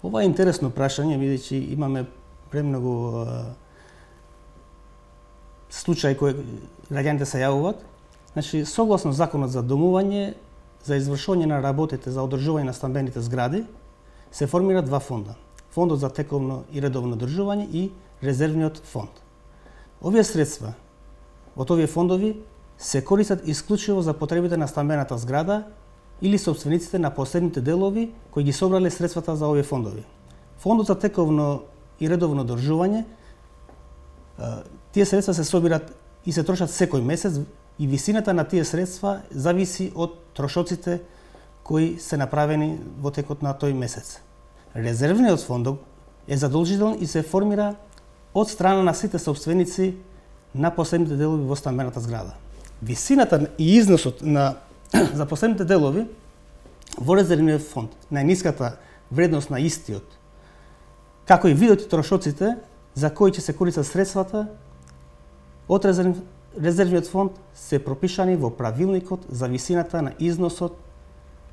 Ова е интересно прашање, бидејќи имаме премногу случаи кои граѓаните се јавуваат. Значи, согласно Законот за домување, за извршување на работите за одржување на стамбените згради, се формира два фонда. Фондот за тековно и редовно одржување и резервниот фонд. Овие средства од овие фондови се користат исклучиво за потребите на стамбената зграда или собствениците на последните делови кои ги собрале средствата за овие фондови. Фондот за тековно и редовно одржување, тие средства се собират и се трошат секој месец и висината на тие средства зависи од трошоците кои се направени во текот на тој месец. Резервниот фонд е задолжителен и се формира од страна на сите собственици на последните делови во стамбената зграда. Висината и износот за последните делови во резервниот фонд, најниската вредност на истиот, како и видот и трошоците за кои ќе се користат средствата од резервниот фонд се пропишани во правилникот за висината на износот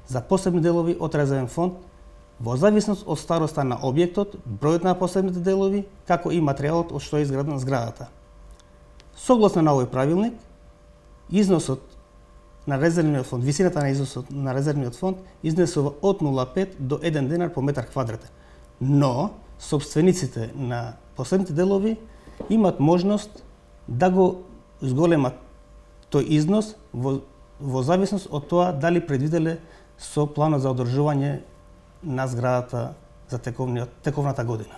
за посебни делови од резервен фонд во зависност од староста на објектот, бројот на посебните делови, како и материјалот од што е изградена зградата. Согласно на овој правилник, износот на резервниот фонд, висината на износот на резервниот фонд изнесува од 0,5 до 1 денар по метар квадратен. Но собствениците на последните делови имат можност да го зголемат тој износ во зависност од тоа дали предвиделе со планот за одржување на зградата за тековната година.